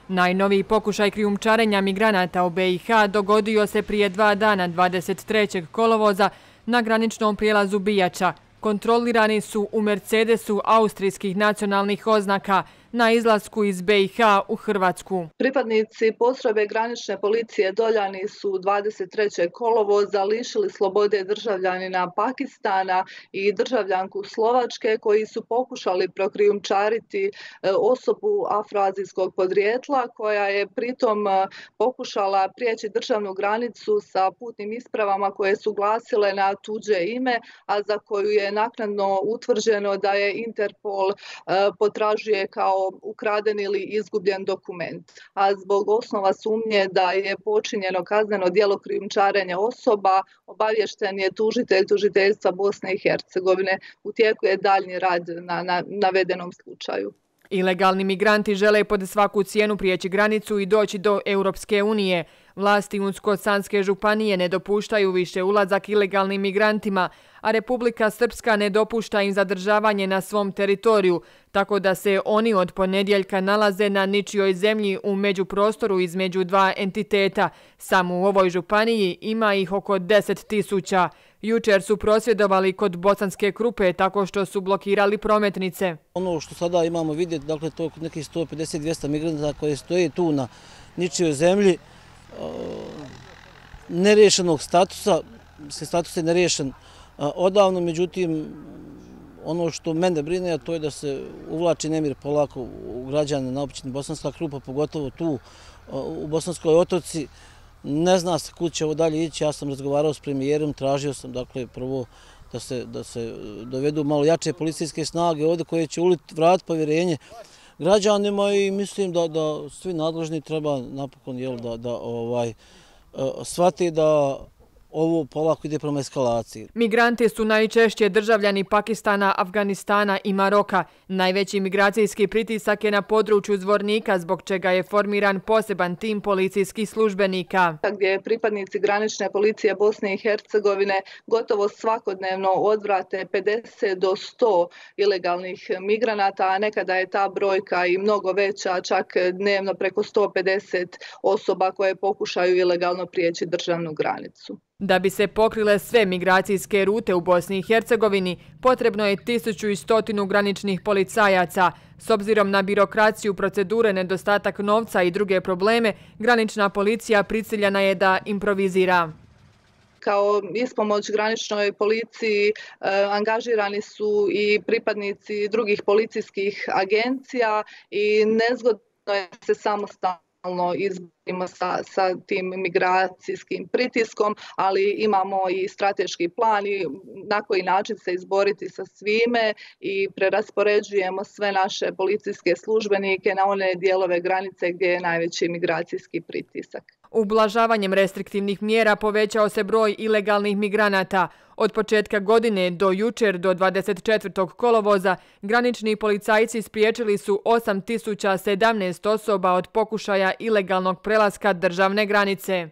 Najnoviji pokušaj krijumčarenja migranata u BiH dogodio se prije 2 dana 23. kolovoza na graničnom prijelazu Bijača. Kontrolirani su u Mercedesu austrijskih nacionalnih oznaka na izlasku iz BiH u Hrvatsku. Pripadnici postrojbe granične policije Doljani su 23. kolovoza lišili slobode državljanina Pakistana i državljanku Slovačke koji su pokušali prokrijumčariti osobu afroazijskog podrijetla koja je pritom pokušala prijeći državnu granicu sa putnim ispravama koje su glasile na tuđe ime, a za koju je naknadno utvrđeno da je Interpol potražuje kao ukraden ili izgubljen dokument. A zbog osnova sumnje da je počinjeno kazneno djelo krijumčarenja osoba, obaviješten je tužitelj tužiteljstva Bosne i Hercegovine. U tijeku je daljnji rad na navedenom slučaju. Ilegalni migranti žele pod svaku cijenu prijeći granicu i doći do Europske unije. Vlasti Unsko-Sanske županije ne dopuštaju više ulazak ilegalnim migrantima, a Republika Srpska ne dopušta im zadržavanje na svom teritoriju, tako da se oni od ponedjeljka nalaze na ničijoj zemlji u međuprostoru između dva entiteta. Samo u ovoj županiji ima ih oko 10.000. Jučer su prosvjedovali kod Bosanske Krupe tako što su blokirali prometnice. Ono što sada imamo vidjeti, dakle to je nekih 150-200 migranata koji stoje tu na ničijoj zemlji, neriješenog statusa, status je neriješen odavno, međutim ono što mene brine to je da se uvlači nemir polako u građane na općini Bosanska Krupa, pogotovo tu u Bosanskoj Otoci. Ne zna se kud će ovo dalje ići, ja sam razgovarao s premijerom, tražio sam dakle prvo da se dovedu malo jače policijske snage ovdje koje će vratiti povjerenje građanima i mislim da svi nadležni treba napokon da shvati da ovo polako ide prema eskalaciji. Migranti su najčešće državljani Pakistana, Afganistana i Maroka. Najveći migracijski pritisak je na području Zvornika, zbog čega je formiran poseban tim policijskih službenika. Gdje pripadnici granične policije Bosne i Hercegovine gotovo svakodnevno odvrate 50 do 100 ilegalnih migranata, a nekada je ta brojka i mnogo veća, čak dnevno preko 150 osoba koje pokušaju ilegalno prijeći državnu granicu. Da bi se pokrile sve migracijske rute u Bosni i Hercegovini, potrebno je 1100 graničnih policajaca. S obzirom na birokraciju, procedure, nedostatak novca i druge probleme, granična policija prisiljena je da improvizira. Kao ispomoć graničnoj policiji angažirani su i pripadnici drugih policijskih agencija i nezgodno je se samostalno izborimo sa tim migracijskim pritiskom, ali imamo i strateški plan i na koji način se izboriti sa svime i preraspoređujemo sve naše policijske službenike na one dijelove granice gdje je najveći migracijski pritisak. Ublažavanjem restriktivnih mjera povećao se broj ilegalnih migranata. Od početka godine do jučer do 24. kolovoza granični policajci spriječili su 8.017 osoba od pokušaja ilegalnog prelaska državne granice.